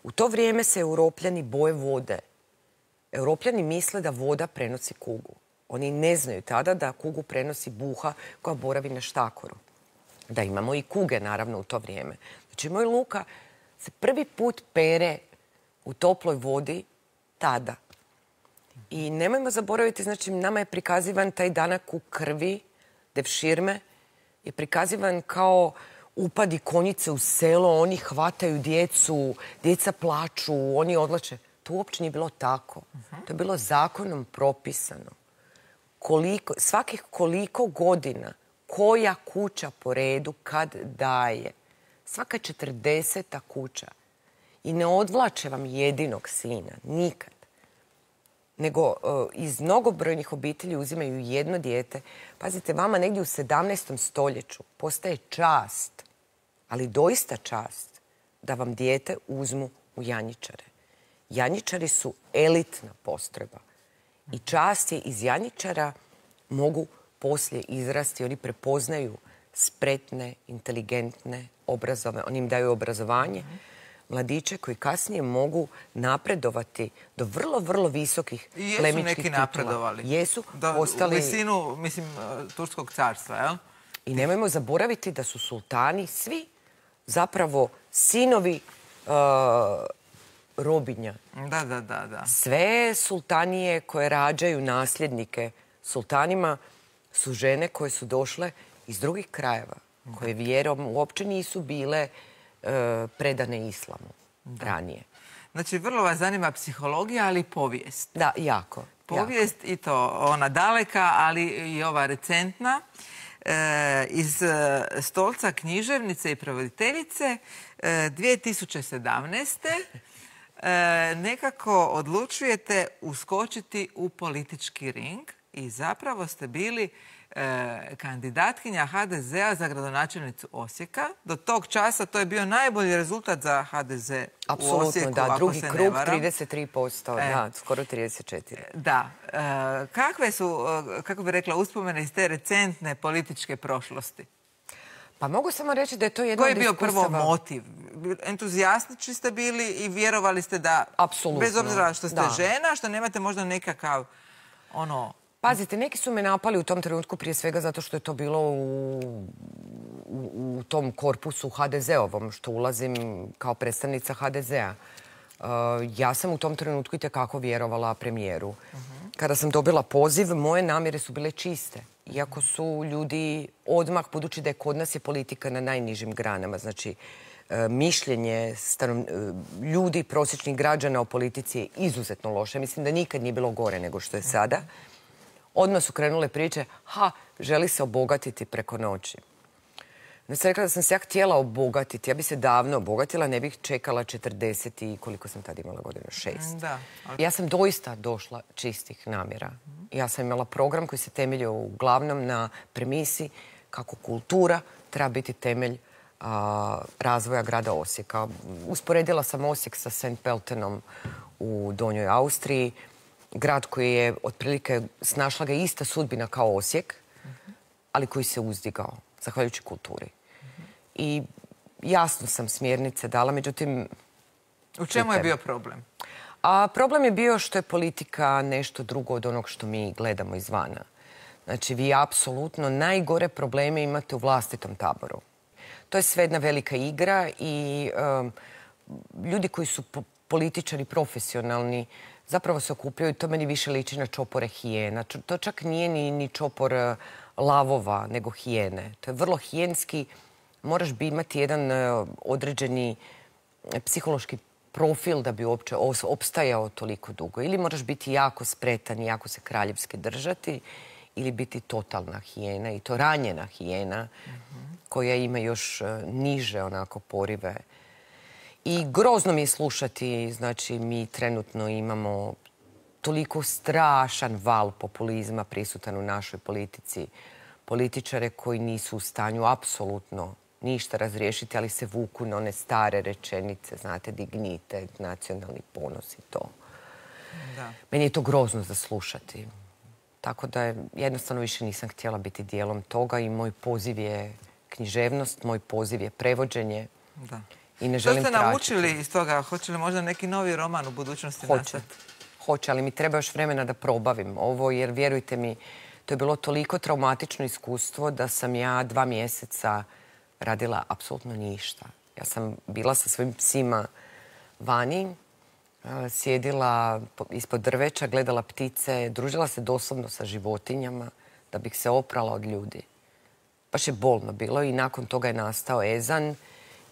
[SPEAKER 2] U to vrijeme se Europljani boje vode. Europljani misle da voda prenosi kugu. Oni ne znaju tada da kugu prenosi buha koja boravi na štakoru. Da imamo i kuge, naravno, u to vrijeme. Znači, moj Luka se prvi put pere u toploj vodi tada. I nemojmo zaboraviti, znači, nama je prikazivan taj danak u krvi, devširme, je prikazivan kao upadi konjice u selo, oni hvataju djecu, djeca plaču, oni odlače. To uopće nije bilo tako. To je bilo zakonom propisano. Svakih koliko godina, koja kuća po redu kad daje. Svaka 40. kuća. I ne odvlače vam jedinog sina, nikad. Nego iz mnogobrojnih obitelji uzimaju jedno dijete. Pazite, vama negdje u 17. stoljeću postaje čast, ali doista čast, da vam dijete uzmu u janjičare. Janjičari su elitna postrojba. I čast je iz janjičara mogu poslije izrasti. Oni prepoznaju spretne, inteligentne, obrazovane. Oni im daju obrazovanje. Mladiće koji kasnije mogu napredovati do vrlo, vrlo visokih plemičkih titula.
[SPEAKER 1] I jesu neki napredovali.
[SPEAKER 2] Jesu postali...
[SPEAKER 1] U visinu, mislim, Turskog carstva, jel?
[SPEAKER 2] I nemojmo zaboraviti da su sultani svi zapravo sinovi robinja.
[SPEAKER 1] Da.
[SPEAKER 2] Sve sultanije koje rađaju nasljednike sultanima su žene koje su došle iz drugih krajeva, koje vjerom uopće nisu bile predane islamu ranije.
[SPEAKER 1] Znači, vrlo vas zanima psihologija, ali i povijest.
[SPEAKER 2] Da, jako.
[SPEAKER 1] Povijest i to ona daleka, ali i ova recentna. Iz stolca književnice i prevoditeljice 2017. Nekako odlučujete uskočiti u politički ring i zapravo ste bili kandidatkinja HDZ-a za gradonačelnicu Osijeka. Do tog časa to je bio najbolji rezultat za HDZ u Osijeku,
[SPEAKER 2] da,
[SPEAKER 1] ako se ne varam.
[SPEAKER 2] Drugi krug 33%, da, skoro 34%.
[SPEAKER 1] Da. Kakve su, kako bi rekla, uspomene iz te recentne političke prošlosti?
[SPEAKER 2] Pa mogu samo reći da je to jedna
[SPEAKER 1] Koji
[SPEAKER 2] od
[SPEAKER 1] je bio
[SPEAKER 2] iskustava...
[SPEAKER 1] prvo motiv? Entuzijastnični ste bili i vjerovali ste da,
[SPEAKER 2] apsolutno,
[SPEAKER 1] bez obzira što ste žena, što nemate možda nekakav ono...
[SPEAKER 2] Pazite, neki su me napali u tom trenutku prije svega zato što je to bilo u tom korpusu HDZ-ovom, što ulazim kao predstavnica HDZ-a. Ja sam u tom trenutku itekako vjerovala premijeru. Kada sam dobila poziv, moje namjere su bile čiste. Iako su ljudi odmah, budući da je kod nas je politika na najnižim granama, znači mišljenje ljudi, prosječnih građana o politici je izuzetno loše. Mislim da nikad nije bilo gore nego što je sada. Odmah su krenule priče, želi se obogatiti preko noći. Ne sam rekla da sam se ja htjela obogatiti. Ja bi se davno obogatila, ne bih čekala 40 i koliko sam tad imala godina, 6.
[SPEAKER 1] Da.
[SPEAKER 2] Ja sam doista došla čistih namjera. Ja sam imala program koji se temeljio uglavnom na premisi kako kultura treba biti temelj razvoja grada Osijeka. Usporedila sam Osijek sa St. Pöltenom u Donjoj Austriji. Grad koji je otprilike snašla ga ista sudbina kao Osijek, ali koji se uzdigao, zahvaljujući kulturi. I jasno sam smjernice dala, međutim...
[SPEAKER 1] U čemu je bio problem?
[SPEAKER 2] Problem je bio što je politika nešto drugo od onog što mi gledamo izvana. Znači, vi apsolutno najgore probleme imate u vlastitom taboru. To je sve jedna velika igra i ljudi koji su političari profesionalni zapravo se okupljaju, to meni više liči na čopore hijena. To čak nije ni čopor lavova, nego hijene. To je vrlo hijenski. Moraš bi imati jedan određeni psihološki profil da bi uopće opstajao toliko dugo. Ili moraš biti jako spretan i jako se kraljevski držati, ili biti totalna hijena, i to ranjena hijena koja ima još niže onako porive. I grozno mi je slušati, znači mi trenutno imamo toliko strašan val populizma prisutan u našoj politici. Političare koji nisu u stanju apsolutno ništa razriješiti, ali se vuku na one stare rečenice, znate, dignitet, nacionalni ponos i to.
[SPEAKER 1] Da.
[SPEAKER 2] Meni je to grozno za slušati. Tako da jednostavno više nisam htjela biti dijelom toga i moj poziv je književnost, moj poziv je prevođenje.
[SPEAKER 1] Da.
[SPEAKER 2] I ne želim
[SPEAKER 1] Što ste
[SPEAKER 2] tračiti.
[SPEAKER 1] naučili iz toga? Hoće li možda neki novi roman u budućnosti nastati?
[SPEAKER 2] Hoće, ali mi treba još vremena da probavim ovo, jer vjerujte mi, to je bilo toliko traumatično iskustvo da sam ja 2 mjeseca radila apsolutno ništa. Ja sam bila sa svojim psima vani, sjedila ispod drveća, gledala ptice, družila se doslovno sa životinjama da bih se oprala od ljudi. Baš je bolno bilo i nakon toga je nastao Ezan,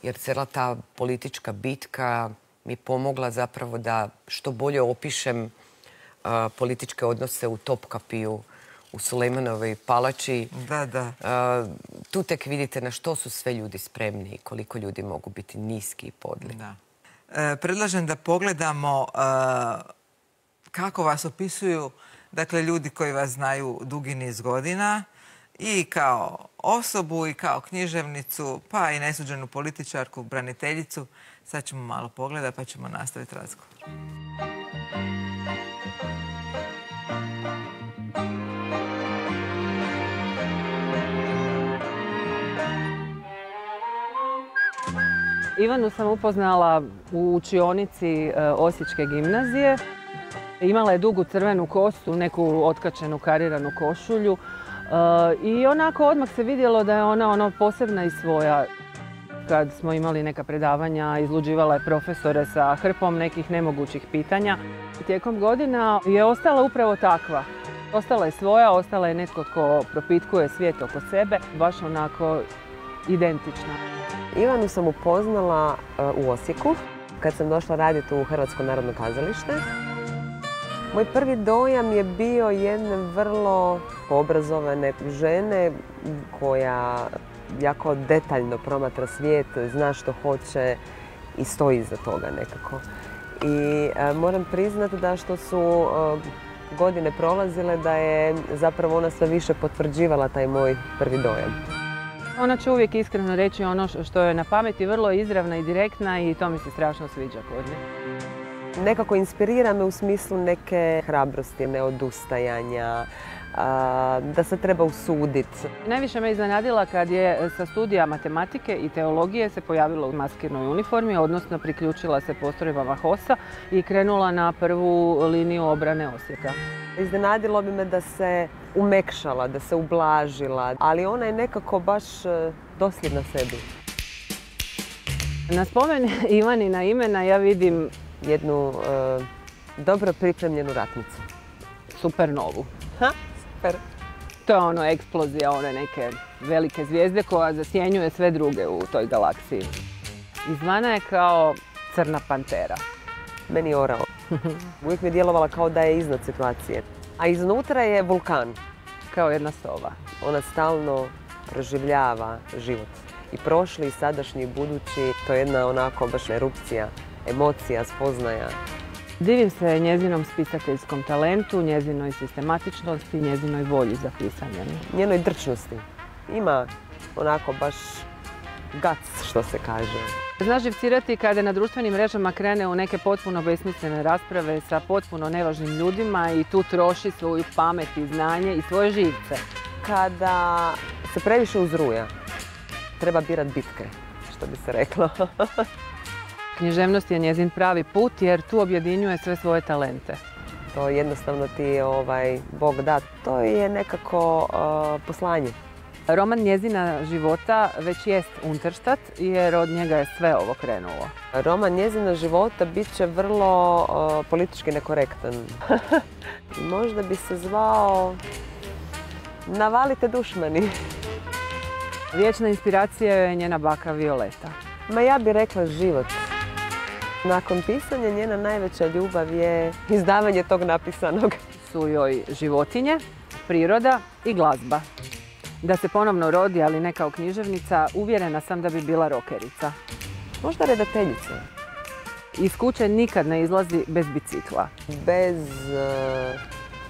[SPEAKER 2] jer cijela ta politička bitka mi je pomogla zapravo da što bolje opišem političke odnose u Topkapiju, u Sulejmanovoj palači.
[SPEAKER 1] Da.
[SPEAKER 2] Tu tek vidite na što su sve ljudi spremni i koliko ljudi mogu biti niski i podli.
[SPEAKER 1] Da. Predlažem da pogledamo kako vas opisuju, dakle, ljudi koji vas znaju dugi niz godina i kao osobu i kao književnicu, pa i nesuđenu političarku, braniteljicu. Sad ćemo malo pogledati pa ćemo nastaviti razgovor.
[SPEAKER 5] Ivanu sam upoznala u učionici Osječke gimnazije. Imala je dugu crvenu kosu, neku otkačenu kariranu košulju i onako odmah se vidjelo da je ona posebna i svoja. Kad smo imali neka predavanja, izluđivala je profesore sa hrpom nekih nemogućih pitanja. Tijekom godina je ostala upravo takva. Ostala je svoja, ostala je netko tko propitkuje svijet oko sebe, baš onako identična.
[SPEAKER 6] Ivanu sam upoznala u Osijeku kad sam došla raditi u Hrvatsko narodno kazalište. Moj prvi dojam je bio jedne vrlo obrazovane žene koja jako detaljno promatra svijet, zna što hoće i stoji iza toga nekako. I moram priznati da što su godine prolazile da je zapravo ona sve više potvrđivala taj moj prvi dojam.
[SPEAKER 5] Ona će uvijek iskreno reći ono što je na pameti, vrlo izravna i direktna i to mi se strašno sviđa kod nje.
[SPEAKER 6] Nekako inspirira me u smislu neke hrabrosti, neodustajanja, da se treba usuditi.
[SPEAKER 5] Najviše me iznenadila kad je sa studija matematike i teologije se pojavila u maskirnoj uniformi, odnosno priključila se postrojbama HOS-a i krenula na prvu liniju obrane Osijeka.
[SPEAKER 6] Iznenadilo bi me da se umekšala, da se ublažila, ali ona je nekako baš dosljedna sebi.
[SPEAKER 5] Na spomen Ivanina imena ja vidim
[SPEAKER 6] jednu dobro pripremljenu ratnicu.
[SPEAKER 5] supernovu.
[SPEAKER 6] Super.
[SPEAKER 5] To je ono eksplozija one neke velike zvijezde koja zasjenjuje sve druge u toj galaksiji. Izvana je kao crna pantera.
[SPEAKER 6] Meni je orao. Uvijek mi je djelovala kao da je iznad situacije. A iznutra je vulkan.
[SPEAKER 5] Kao jedna sova.
[SPEAKER 6] Ona stalno proživljava život. I prošli, i sadašnji, i budući. To je jedna onako baš erupcija, emocija, spoznaja.
[SPEAKER 5] Divim se njezinom spisateljskom talentu, njezinoj sistematičnosti, njezinoj volji za pisanje.
[SPEAKER 6] Njenoj drčnosti. Ima onako baš guts, što se kaže.
[SPEAKER 5] Znaš živcirati kada na društvenim mrežama krene u neke potpuno besmislene rasprave sa potpuno nevažnim ljudima i tu troši svoju pamet i znanje i svoje živce.
[SPEAKER 6] Kada se previše uzruja, treba birat bitke, što bi se reklo.
[SPEAKER 5] Književnost je njezin pravi put jer tu objedinjuje sve svoje talente.
[SPEAKER 6] To jednostavno ti Bog da. To je nekako poslanje.
[SPEAKER 5] Roman njezina života već jest Unterstadt jer od njega je sve ovo krenulo.
[SPEAKER 6] Roman njezina života bit će vrlo politički nekorektan. Možda bi se zvao Navalite dušmani.
[SPEAKER 5] Vječna inspiracija je njena baka Violeta.
[SPEAKER 6] Ma ja bih rekla život. Nakon pisanja njena najveća ljubav je izdavanje tog napisanog.
[SPEAKER 5] Su joj životinje, priroda i glazba. Da se ponovno rodi, ali ne kao književnica, uvjerena sam da bi bila rokerica.
[SPEAKER 6] Možda redateljica.
[SPEAKER 5] Iz kuće nikad ne izlazi bez bicikla.
[SPEAKER 6] Bez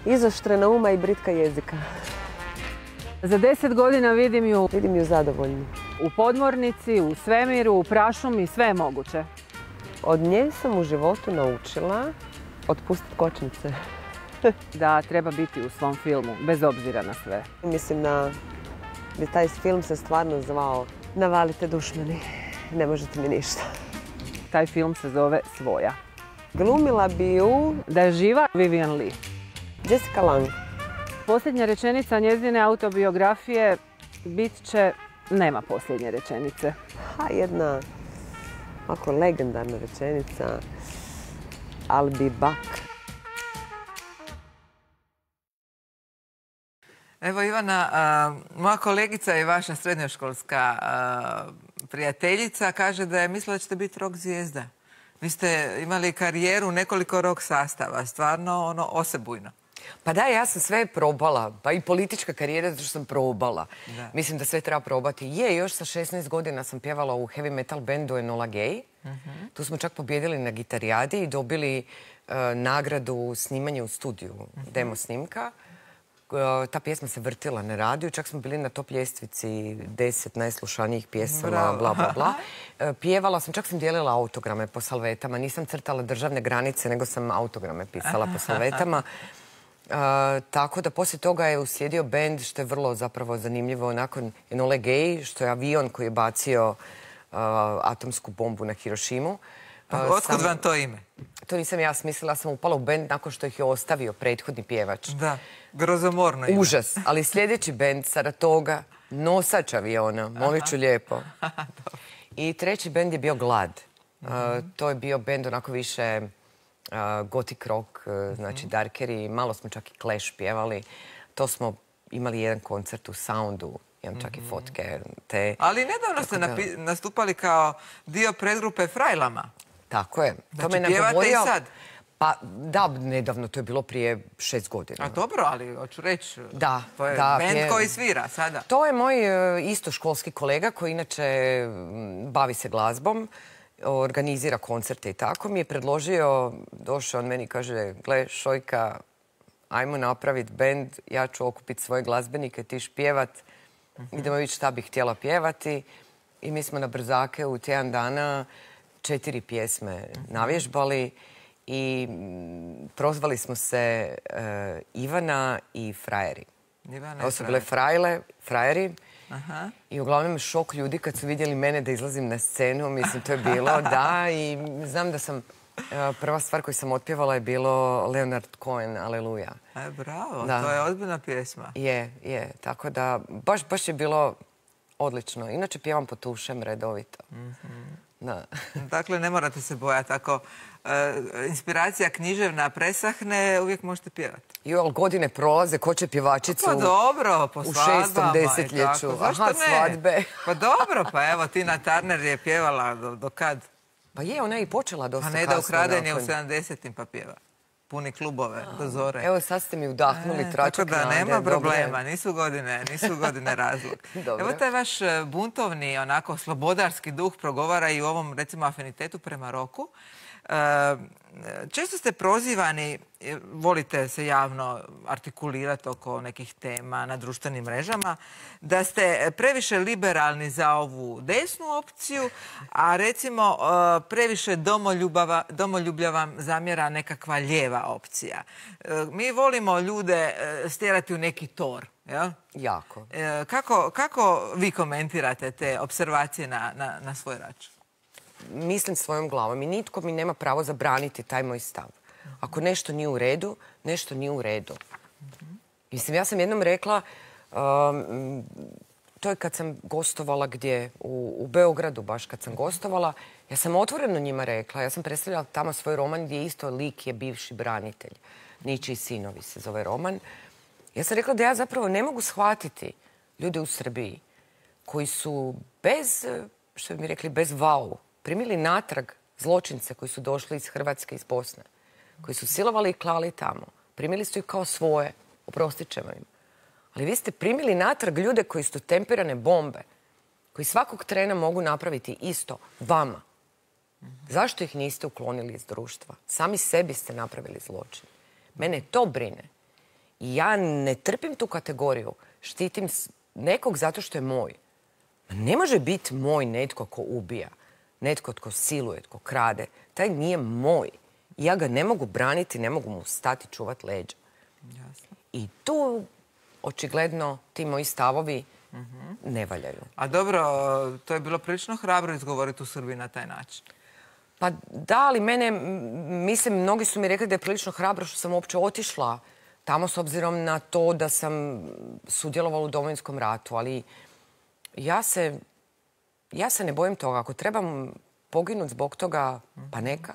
[SPEAKER 6] izoštrena uma i britka jezika.
[SPEAKER 5] Za 10 godina vidim ju
[SPEAKER 6] zadovoljnu.
[SPEAKER 5] U podmornici, u svemiru, u prašumi, sve je moguće.
[SPEAKER 6] Od nje sam u životu naučila otpustiti kočnice.
[SPEAKER 5] Da treba biti u svom filmu, bez obzira na sve.
[SPEAKER 6] Mislim da bi taj film se stvarno zvao Navalite dušmani, ne možete mi ništa.
[SPEAKER 5] Taj film se zove Svoja.
[SPEAKER 6] Glumila bi ju...
[SPEAKER 5] Da je živa Vivien Leigh.
[SPEAKER 6] Jessica Lange.
[SPEAKER 5] Posljednja rečenica njezine autobiografije bit će nema posljednje rečenice.
[SPEAKER 6] Jedna ovako legendarna rečenica. I'll be back.
[SPEAKER 1] Evo Ivana, moja kolegica i vaša srednjoškolska prijateljica kaže da je mislila da ćete biti rock zvijezda. Vi ste imali karijeru, nekoliko rock sastava, stvarno osebujno.
[SPEAKER 2] Pa da, ja sam sve probala, pa i politička karijera zato što sam probala. Da. Mislim da sve treba probati. Još sa 16 godina sam pjevala u heavy metal bandu Enola Gay. Tu smo čak pobjedili na gitarijadi i dobili nagradu snimanje u studiju, demo snimka. Ta pjesma se vrtila na radiju, čak smo bili na top ljestvici 10 najslušanijih pjesama, bla, bla, bla. Pjevala sam, čak sam dijelila autograme po salvetama. Nisam crtala državne granice, nego sam autograme pisala po salvetama. Tako da poslije toga je uslijedio bend, što je vrlo zapravo zanimljivo, nakon Enole Gay, što je avion koji je bacio atomsku bombu na Hirošimu.
[SPEAKER 1] Otkud vam to ime?
[SPEAKER 2] To nisam ja smislila, sam upala u bend nakon što ih je ostavio prethodni pjevač.
[SPEAKER 1] Da, grozomorno ime.
[SPEAKER 2] Užas, ali sljedeći bend, Saratoga, nosač aviona, molit ću lijepo. I treći bend je bio Glad. To je bio bend onako više gothic rock, znači darkeri, malo smo čak i Clash pjevali. To smo imali jedan koncert u Soundu, imam čak i fotke.
[SPEAKER 1] Ali nedavno ste nastupali kao dio predgrupe Frajlama.
[SPEAKER 2] Tako je.
[SPEAKER 1] Znači pjevate i sad?
[SPEAKER 2] Pa da, nedavno, to je bilo prije 6 godina.
[SPEAKER 1] A dobro, ali hoću reći,
[SPEAKER 2] da,
[SPEAKER 1] to je bend koji svira sada.
[SPEAKER 2] To je moj istoškolski kolega koji inače bavi se glazbom, organizira koncerte i tako. Mi je predložio, došao on meni i kaže, gle Šojka, ajmo napraviti bend, ja ću okupiti svoje glazbenike, ti ćeš pjevat, idemo vidjeti šta bih htjela pjevati. I mi smo na brzake u tjedan dana 4 pjesme navježbali i prozvali smo se Ivana i Frajeri. Ovo su bile Frajeri. I uglavnom šok ljudi kad su vidjeli mene da izlazim na scenu. Mislim, to je bilo, da. I znam da sam, prva stvar koju sam otpjevala je bilo Leonard Cohen, Aleluja.
[SPEAKER 1] Bravo, to je ozbiljna pjesma.
[SPEAKER 2] Je. Tako da, baš je bilo odlično. Inače pjevam po tušem redovito. Da.
[SPEAKER 1] Dakle, ne morate se bojati. Ako inspiracija književna presahne, uvijek možete pjevati.
[SPEAKER 2] Ali godine prolaze, ko će pjevačicu
[SPEAKER 1] pa dobro, po svadbama.
[SPEAKER 2] U 6. desetljeću.
[SPEAKER 1] Zašto
[SPEAKER 2] svadbe.
[SPEAKER 1] Pa dobro, pa evo, Tina Turner je pjevala do kad?
[SPEAKER 2] Pa je, ona je i počela dosta kasno.
[SPEAKER 1] A ne da ukradenje u 70-im pa pjeva. puni klubove do zore.
[SPEAKER 2] Evo, sad ste mi udahnuli tračak nade.
[SPEAKER 1] Tako da nema problema, nisu godine razlog. Evo taj vaš buntovni, onako slobodarski duh progovara i u ovom, recimo, afinitetu prema roku. Često ste prozivani, volite se javno artikulirati oko nekih tema na društvenim mrežama, da ste previše liberalni za ovu desnu opciju, a recimo previše domoljublja vam zamjera nekakva lijeva opcija. Mi volimo ljude stjerati u neki tor. Ja?
[SPEAKER 2] Jako.
[SPEAKER 1] Kako vi komentirate te observacije na svoj račun?
[SPEAKER 2] Mislim svojom glavom i nitko mi nema pravo zabraniti taj moj stav. Ako nešto nije u redu, nešto nije u redu. Mislim, ja sam jednom rekla, to je kad sam gostovala gdje, u Beogradu baš kad sam gostovala, ja sam otvoreno njima rekla, ja sam predstavljala tamo svoj roman gdje isto lik je bivši branitelj. Ničiji sinovi se zove roman. Ja sam rekla da ja zapravo ne mogu shvatiti ljude u Srbiji koji su bez, što bi mi rekli, bez vau, primili natrag zločince koji su došli iz Hrvatske, iz Bosne, koji su silovali i klali tamo. Primili su ih kao svoje, oprostit ćemo im. Ali vi ste primili natrag ljude koji su temperane bombe, koji svakog trena mogu napraviti isto vama. Zašto ih niste uklonili iz društva? Sami sebi ste napravili zločin. Mene to brine. I ja ne trpim tu kategoriju. Štitim nekog zato što je moj. Ne može biti moj netko ko ubija. Netko tko siluje, tko krade. Taj nije moj. Ja ga ne mogu braniti, ne mogu mu stati čuvat leđa.
[SPEAKER 1] Jasno.
[SPEAKER 2] I tu, očigledno, ti moji stavovi ne valjaju.
[SPEAKER 1] A dobro, to je bilo prilično hrabro izgovoriti u Srbiji na taj način.
[SPEAKER 2] Pa da, ali mene, mislim, mnogi su mi rekli da je prilično hrabro što sam uopće otišla tamo s obzirom na to da sam sudjelovala u Domovinskom ratu, ali ja se ne bojim toga. Ako trebam poginuti zbog toga, pa neka.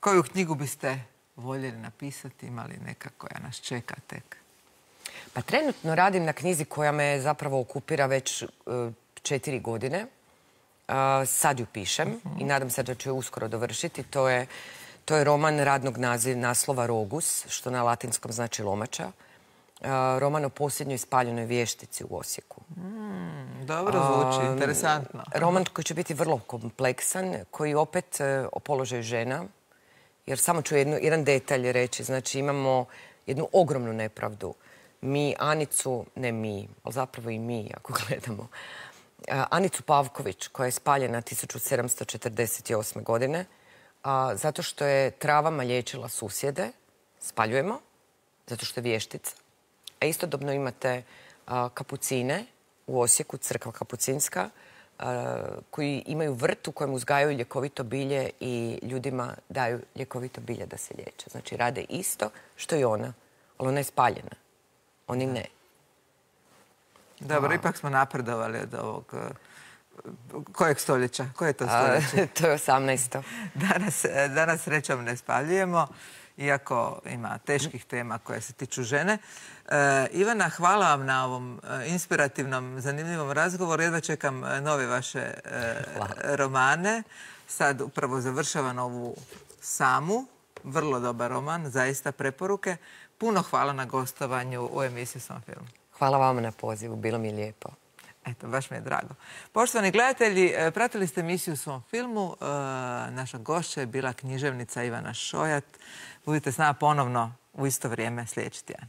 [SPEAKER 1] Koju knjigu biste voljeli napisati? Ima li neka koja nas čeka tek?
[SPEAKER 2] Pa trenutno radim na knjizi koja me zapravo okupira već 4 godine. Sad ju pišem i nadam se da ću ju uskoro dovršiti. To je roman radnog naslova Rogus, što na latinskom znači lomača. Roman o posljednjoj spaljenoj vještici u Osijeku.
[SPEAKER 1] Dobro zvuči, interesantno.
[SPEAKER 2] Roman koji će biti vrlo kompleksan, koji opet o položaju žena, jer samo ću jedan detalj reći. Znači imamo jednu ogromnu nepravdu. Mi Anicu, ne mi, ali zapravo i mi ako gledamo, Anicu Pavković koja je spaljena 1748. godine zato što je travama liječila susjede, spaljujemo, zato što je vještica. A istodobno imate kapucine u Osijeku, crkva kapucinska, koji imaju vrt u kojem uzgajaju ljekovito bilje i ljudima daju ljekovito bilje da se liječe. Znači rade isto što i ona, ali ona je spaljena. Oni ne.
[SPEAKER 1] Dobro, ipak smo napredovali od ovog... Kojeg stoljeća? Koje je to stoljeće?
[SPEAKER 2] To je 18.
[SPEAKER 1] Danas srećom ne spaljujemo, iako ima teških tema koje se tiču žene. Ivana, hvala vam na ovom inspirativnom, zanimljivom razgovoru. Jedva čekam nove vaše romane. Sad upravo završavam ovu Samu. Vrlo dobar roman, zaista preporuke. Puno hvala na gostovanju u emisiji Svom filmu.
[SPEAKER 2] Hvala vama na pozivu, bilo mi je lijepo.
[SPEAKER 1] Eto, baš mi je drago. Poštovani gledatelji, pratili ste emisiju u Svom filmu. Naša gošća je bila književnica Ivana Šojat. Budite s nama ponovno u isto vrijeme sljedeći tjedan.